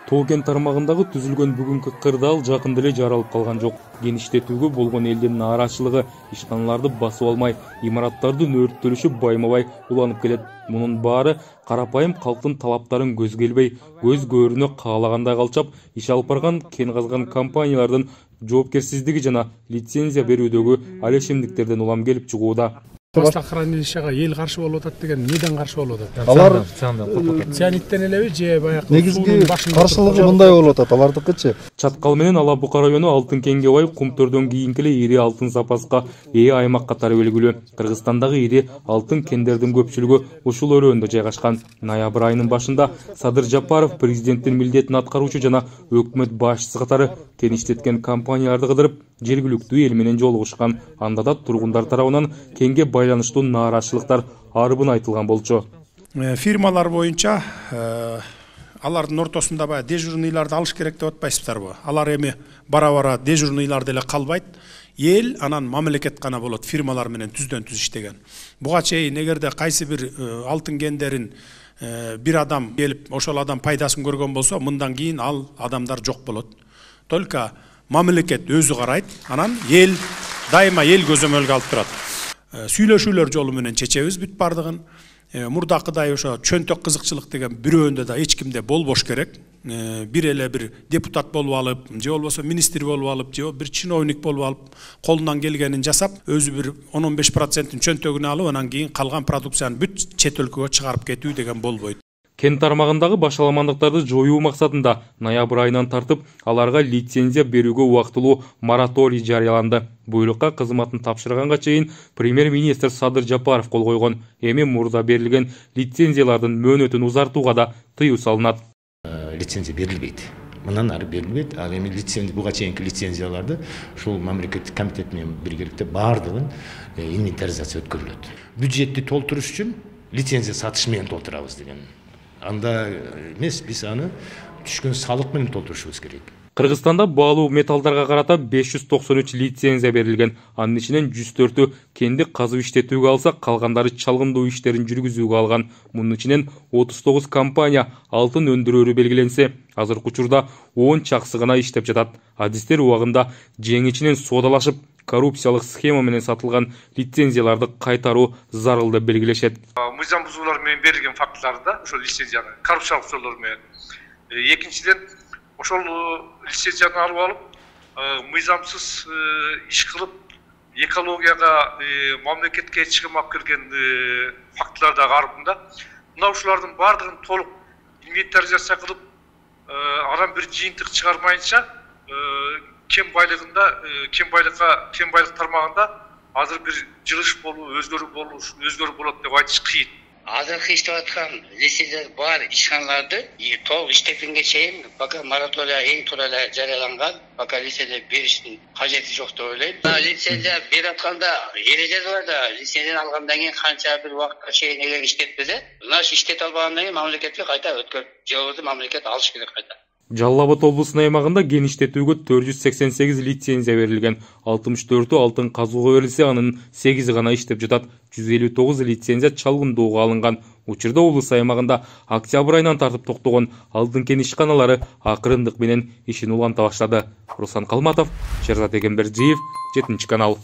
Тоо кен тармагындагы түзүлгөн бүгүнкү кырдаал жакында эле жаралып калган жок. Геништетүүгө болгон элдин нааразычылыгы ишканаларды басып алмай, имараттардын өрттөлүшү байма-бай уланып келет. Мунун баары карапайым калктын талаптарын көзгө илбей, көз көрүнө каалагандай калчап, иш алып барган кен казган компаниялардын жоопкерсиздиги жана лицензия берүүдөгү алешемдиктерден улам келип чыгууда. Хранилищеге эл каршы болуп атат деген неден каршы болуп атат? Алар цианиттен элеби же баягы негизги каршылыгы мындай болуп атат, алардыкычы. Чаткал менен Ала Бука району алтын кенге бай Кумтөрдөн кийинки эле ири алтын запаска ээ аймак катары белгилүү. Кыргызстандагы ири алтын кендердин көпчүлүгү ушул өрөөндө жайгашкан. Ноябрь айынын башында Садыр Жапаров президенттин милдетин аткаруучу жана өкмөт башчысы катары кен иштеткен компанияларды кыдырып, жергиликтүү эл менен жолугушкан. Анда да тургундар тарабынан кенге байланыштуу нааразычылыктар арбын айтылган болчу. Фирмалар боюнча алардын ортосунда баягы дежурныйларды алыш керек деп атпайсыздарбы? Алар эми бара-бара дежурныйларды эле калбайт. Эл анан мамлекет гана болот, фирмалар менен түздөн-түз иштеген. Буга чейин эгерде кайсы бир алтын кендерин бир адам келип, ошол адам пайдасын көргөн болсо, мындан кийин ал адамдар жок болот. Только мамлекет өзү карайт, анан эл дайыма эл көзөмөлгө алып турат. Сүйлөшүүлөр жолу менен чечебиз бүт бардыгын. Мурдакыдай ошо чөнтөк кызыкчылык деген бирөөндө да эч кимде болбош керек. Бир эле бир депутат болуп алып, же болбосо министр болуп алып, же бир чиновник болуп алып, колунан келгенин жасап, өзү бир 10-15% чөнтөгүнө алып, анан кийин калган продукцияны бүт чет өлкөгө чыгарып кетүү деген болбойт. Кен тармагындагы башаламандыктарды жоюу максатында ноябрь айынан тартып аларга лицензия берүүгө убактылуу мораторий жарыяланды. Буйрукка кызматын тапшырганга чейин премьер-министр Садыр Жапаров кол койгон. Эми мурда берилген лицензиялардын мөөнөтүн узартууга да тыюу салынат. Лицензия берилбейт. Мындан ары берилбейт. Ал эми лицензия буга чейинки лицензияларды ушул мамлекеттик комитет менен биргеликте баардыгын инвентаризация өткөрүлөт. Бюджетти толтуруш үчүн лицензия сатыш менен толтурабыз деген. Анда эмес, биз аны түшкөн салык менен толтурушубуз керек. Кыргызстанда баалуу металлдарга карата 593 лицензия берилген. Анын ичинен 104-ü кенди казып иштетүүгө алса, калгандары чалгындуу иштерин жүргүзүүгө алган. Мунун ичинен 39 компания алтын өндүрөөрү белгиленсе, азыркы учурда 10 чаксы гана иштеп жатат. Адистер убагында жеңичинен соодалашып, коррупциялык схема менен сатылган лицензияларды кайтаруу зарыл деп белгилешет. Мыйзам бузуулар менен берилген фактыларда ошол лицензияны коррупциялык жолдор менен. Экинчиден ошол лицензияны алып алып, мыйзамсыз иш кылып, экологияга, мамлекетке чыгым алып келген фактылар да арбында. Мына ушулардын бардыгын толук инвентаризация кылып, анан бир жыйынтык чыгармайынча кен байлык тармагында азыр бир жылыш болуу, өзгөрүү болот деп айтыш кыйын. Азыркы иштеп аткан лицензия бар ишканаларды толук иштеткенге чейин пока моратория эң туура эле жарыяланган, пока лицензия бериштин кажети жок деп ойлойм. Лицензия берип атканда эрежеси бар да, лицензияны алгандан кийин канча бир убакытка чейин эгер иштетпесе, мына иштете албагандан кийин мамлекетке кайта өткөрүп, же болбосо мамлекет алыш керек кайта. Жалал Абад облусунун аймагында кен иштетүүгө 488 лицензия берилген. 64-ü алтын казууга берилсе, анын 8 гана иштеп жатат. 159 лицензия чалгындууга алынган. Учурда облус аймагында октябрь айынан тартып токтогон алтын кен ишканалары акырындык менен ишин уланта баштады. Руслан Калматов, Шерзат Эгембердиев, 7 канал.